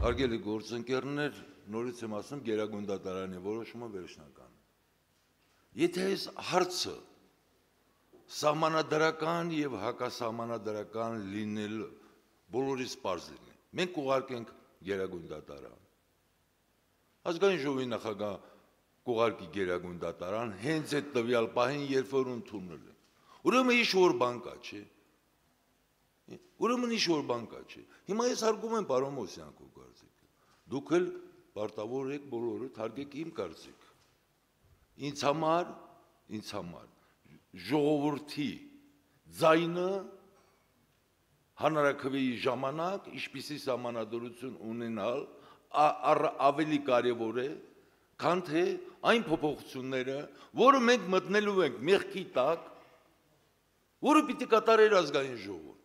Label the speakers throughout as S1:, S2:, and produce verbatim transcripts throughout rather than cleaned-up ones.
S1: Հարգելի գործընկերներ, նորից եմ ասում Գերագույն դատարանի որոշումը վերջնական։ Եթե այս հարցը սահմանադրական եւ հակասահմանադրական լինել բոլորիս պարզ լինի, մենք ուղարկենք Գերագույն դատարան։ Ազգային ժողովի նախագահ կուղարկի Գերագույն դատարան, հենց այդ տվյալ պահին, երբ որ ընդունել է։ Ուրեմն ինչ-որ բան կա, չէ։ Ուրեմն ինչ-որ բան կա, չէ։ Հիմա ես հարգում եմ պարոն Մոսյանցու կարծիքը։ Դուք էլ պարտավոր եք բոլորը հարգեք իմ կարծիքը։ Ինձ համար, ինձ համար ժողովրդի ձայնը հանրաքվեի ժամանակ ինչպիսի սահմանադրություն ունենալ ավելի կարևոր է, քան թե այն փոփոխությունները, որը մենք մտնելու ենք մեղքի տակ, որը պիտի կատարեր ազգային ժողովը։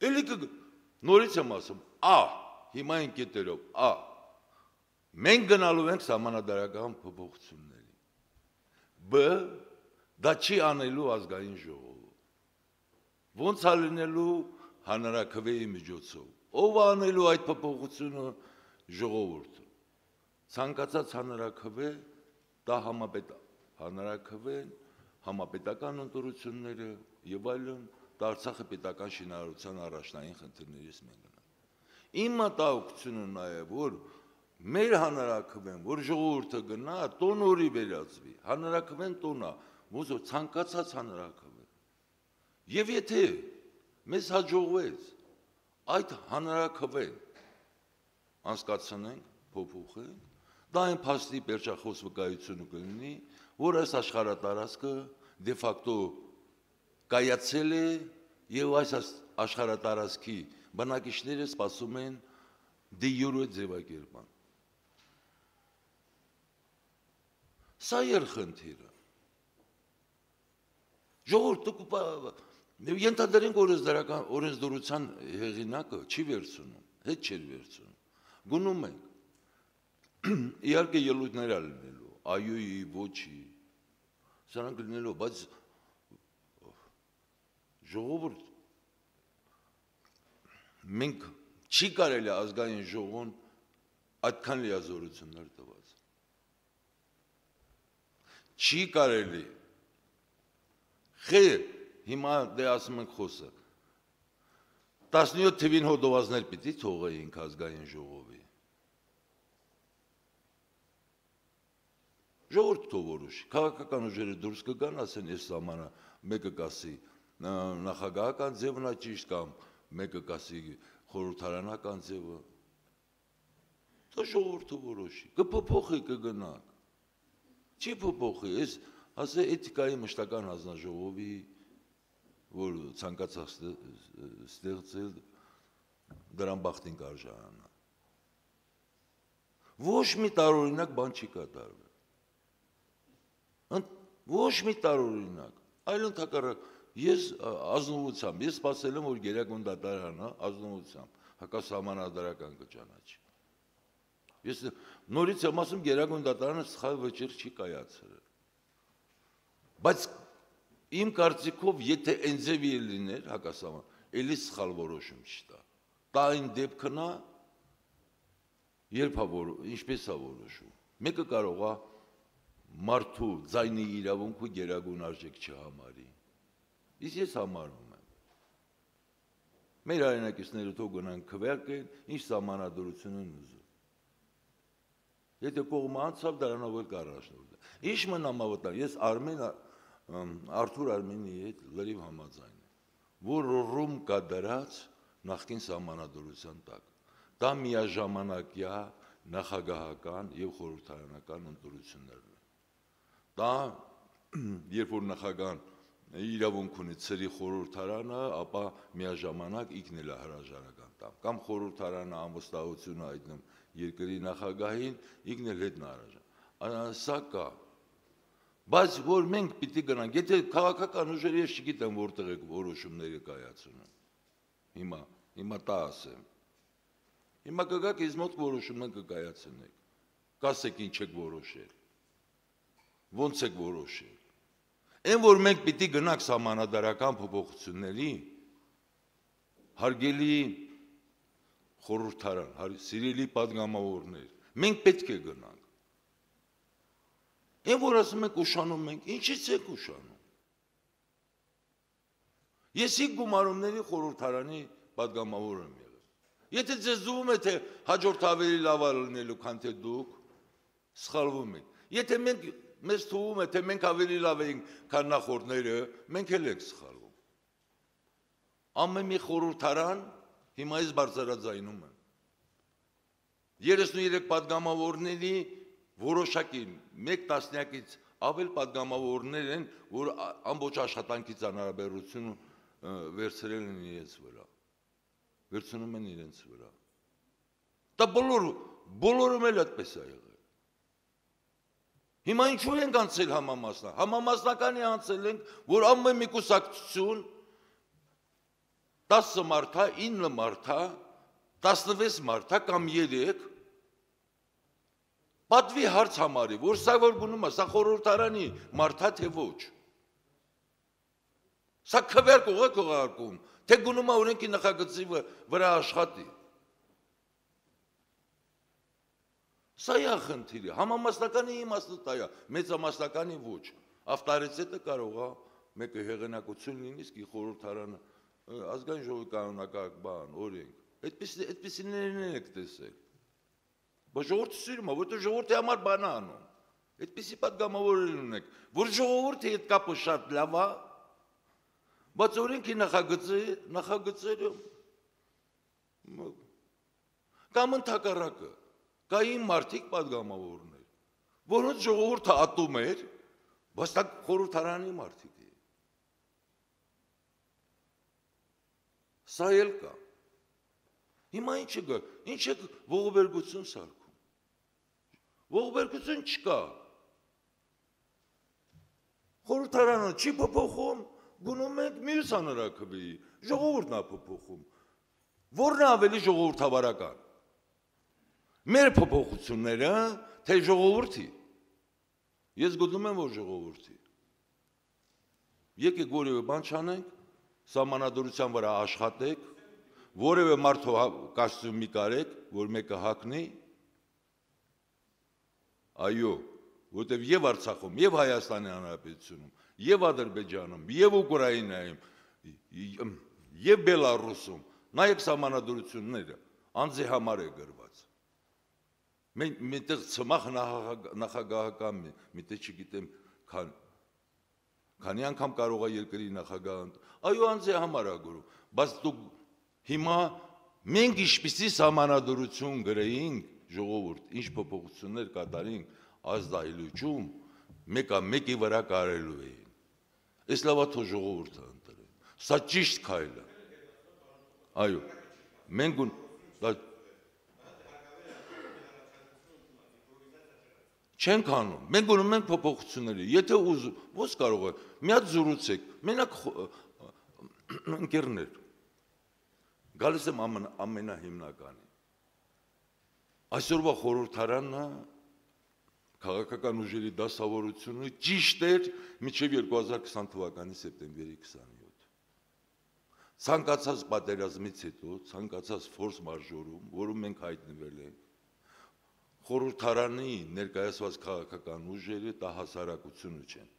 S1: Էլի նորից եմ ասում, ա, հիմա են կետերով, ա, մենք գնալու ենք սահմանադրական փոփոխությունների, բ, դա չի անելու ազգային ժողովը, ոնց է լինելու հանրաքվեի միջոցով, ով է անելու այդ փոփոխությունը ժողովուրդը, ցանկացած հանրաքվե, դա հանրաքվեն, համապետական ընտրությունները եւ այլն, դա Արցախի պետական շինարարության առաջնային խնդիրներից մեկն է։ Իմ մտահոգությունը նաեւ որ մեր հանրաքվեն, որ ժողովուրդը գնա, տոնորի վերածվի, հանրաքվեն տոնա, ոնց որ ցանկացած հանրաքվե։ Եվ եթե մեզ հաջողվեց այդ հանրաքվեն անցկացնենք, փոփոխենք, դա այն փաստի պերճախոս վկայությունը կլինի, որ այս աշխարհատարածքը դե ֆակտո կայացել է եւ այս աշխարհատարածքի բնակիչները սպասում են դե յուրո ձևակերպման։ Սա էր խնդիրը։ Ժողովուրդը ենթադրենք օրենսդրական օրենսդրության հեղինակը չի վերցնում, հետ չէր վերցնում։ Գնում ենք։ Իհարկե ելույթներ ա լինելու, այոյի, ոչի, սրանք լինելու, բայց ժողովուրդ մենք չի կարելի ազգային ժողովն այդքան լիազորություններ տված։ Չի կարելի։ Խեր, հիմա դե ասում ենք խոսը։ տասնյոթ թվին հոդվածներ պիտի թողեինք ազգային ժողովի։ Ժողովուրդը թող որոշի, քաղաքական ուժերը դուրս կգան, ասեն, այս սահմանը մեկը կասի նախագահական ձևն է ճիշտ կամ մեկը կասի խորհրդարանական ձևը։ Դա ժողովուրդը որոշի, կփոփոխի, կգնանք։ Չի փոփոխի, այս ասե էթիկայի մշտական հանձնաժողովի, որ ցանկացած ստեղծել դրան բախտին կարժանանա։ Ոչ մի տարօրինակ բան չի կատարվել։ Ոչ մի տարօրինակ, այլ ընդհակառակ ես ազնվությամբ, ես սպասել եմ, որ Գերագույն դատարանը ազնվությամբ հակասահմանադրական կճանաչի։ Ես նորից եմ ասում, Գերագույն դատարանը սխալ վճիռ չի կայացրել։ Բայց իմ կարծիքով, եթե այն ձևի լիներ հակասահման, էլի սխալ որոշում չտա։ Դա այն դեպքն է, երբ է ինչպես է որոշում։ Մեկը կարող է մարդու ձայնի իրավունքը գերագույն արժեք չհամարի։ Իսկ ես համարում եմ։ Մեր հայրենակիցները թող գնան քվեարկեն, ինչ սահմանադրություն են ուզում։ Եթե կողմը անցավ, դրանով էլ կառաջնորդել։ Ինչ մնամ ավտար, ես Արմեն Արթուր Արմենի հետ լրիվ համաձայն եմ, որ ռում կա դրած նախկին սահմանադրության տակ։ Դա միաժամանակյա նախագահական եւ խորհրդարանական ընտրություններն են։ Դա երբ որ նախագահան իրավունք ունի ծրի խորհրդարանը, ապա միաժամանակ ինքն էլ է հրաժարական տամ, կամ խորհրդարանը անվստահություն հայտնում երկրի նախագահին, ինքն էլ հետն հրաժարական։ Սա կա։ Բայց որ մենք պիտի գնանք, եթե քաղաքական ուժերը ես չգիտեմ որտեղ եք որոշումները կայացնում։ Հիմա, հիմա տա ասեմ։ Հիմա կգաք ինձ մոտ որոշումներ կկայացնեք։ Կասեք ինչ եք որոշել։ Ոնց եք որոշել։ Այն որ մենք պիտի գնանք սահմանադրական փոփոխությունների, հարգելի խորհրդարան, սիրելի պատգամավորներ, մենք պետք է գնանք։ Այն որ ասում ենք ուշանում ենք, ինչից եք ուշանում։ Ես իմ գումարումների խորհրդարանի պատգամավոր եմ եղել։ Եթե ձեզ զուգում է, թե հաջորդ ավելի լավ լինելու, քան թե դուք, սխալվում եք։ Եթե մենք մեզ թվում է, թե մենք ավելի լավ ենք, քան նախորդները, մենք էլ ենք սխալվում։ Ամեն մի խորհրդարան հիմա ես բարձրաձայնում եմ։ երեսունուերեք պատգամավորների որոշակի մեկ տասնյակից ավել պատգամավորներ են, որ ամբողջ աշխատանքից անհարաբերություն վերցրել են իրենց վրա, վերցնում են իրենց վրա։ Դա բոլոր, բոլորում էլ այդպես է եղել։ Հիմա ինչու ենք անցել համամասնակ, համամասնականի անցել ենք, որ ամեն մի կուսակցություն տասը մարդա, ինը մարդա, տասնվեց մարդա կամ երեք պատվի հարց համարի, որ սա որ գնում է, սա խորհրդարանի մարդա թե ոչ։ Սա քվերք ուղղակ ուղարկում, թե գնում է օրենքի նախագծի վրա աշխատի։ Սա է խնդիրը, համամասնականի իմաստը դա է, մեծամասնականի ոչ։ Ավտորիտետը կարող է մեկը հեղինակություն լինի, իսկ խորհրդարանը ազգային ժողովի կանոնակարգ օրենք։ Այդպիսիներն եք տեսել։ Բայց ժողովուրդը սիրում է, որտեղ ժողովրդի համար բան է անում։ Այդպիսի պատգամավորներ ունեք, որ ժողովուրդի հետ կապը շատ լավ է, բայց օրենքի նախագծերը կամ ընդհակառակը, կային մարդիկ պատգամավորներ, որոնց ժողովուրդը ատում էր, բայց դա խորհրդարանի մարդիկ է։ Սա էլ կա։ Հիմա ինչ է գա, ինչ է ողբերգություն սարքում։ Ողբերգություն չկա։ Խորհրդարանը չի փոփոխում, գնում ենք մյուս հանրաքվեի, ժողովուրդն է փոփոխում։ Որն է ավելի ժողովրդավարական։ Մեր փոփոխությունները, թե ժողովրդի։ Ես գտնում եմ, որ ժողովրդի։ Եկեք որևէ բան չանենք, սահմանադրության վրա աշխատեք, որևէ մարդու կասում մի կարեք, որ մեկը հակնի, այո, որտև և Արցախում, և Հայաստանի Հանրապետությունում, և Ադրբեջանում, և Ուկրաինայում, և Բելառուսում, նայեք սահմանադրությունները, անձի համար է գրված։ Միտեղ ծմախ նախագահական, միտեղ չգիտեմ, քանի անգամ կարող է երկրի նախագահը, այո, անձի համար է գրում, բայց դուք հիմա մենք ինչպիսի սահմանադրություն գրեինք ժողովուրդ, ինչ փոփոխություններ կատարենք ազդայլուճում, մեկը մեկի վրա կարելու էին։ Այս լավա թող ժողովուրդը ընտրեն։ Սա ճիշտ քայլ է։ Այո, մենք չենք անում, մենք գնում ենք փոփոխությունների, եթե ուզում, ո՞ց կարող է, մի հատ զրուցեք, մենակ ընկերներ, գալիս եմ ամենահիմնականի, այսօրվա խորհրդարանը քաղաքական ուժերի դասավորությունը ճիշտ էր մինչև երկու հազար քսան թվականի սեպտեմբերի քսանյոթ։ Ցանկացած պատերազմից հետո, ցանկացած ֆորս մաժորում, որում մենք հայտնվել ենք, խորհրդարանի ներկայացված քաղաքական ուժերը դա հասարակությունը չեն։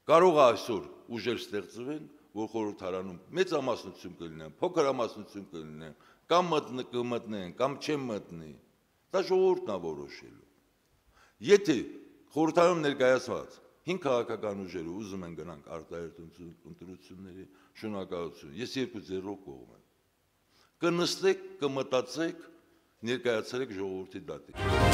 S1: Կարող է այսօր ուժեր ստեղծվեն, որ խորհրդարանում մեծամասնություն կլինեն, փոքրամասնություն կլինեն, կամ կմտնեն, կամ չեն մտնի, դա ժողովուրդն է որոշելու։ Եթե խորհրդարանում ներկայացված հինգ քաղաքական ուժերը ուզում են գնանք արտահերթ ընտրությունների, շնորհակալություն, ես երկու ձեռով կողմ եմ։ Կնստեք, կմտածեք, ներկայացրեք ժողովրդի դատին։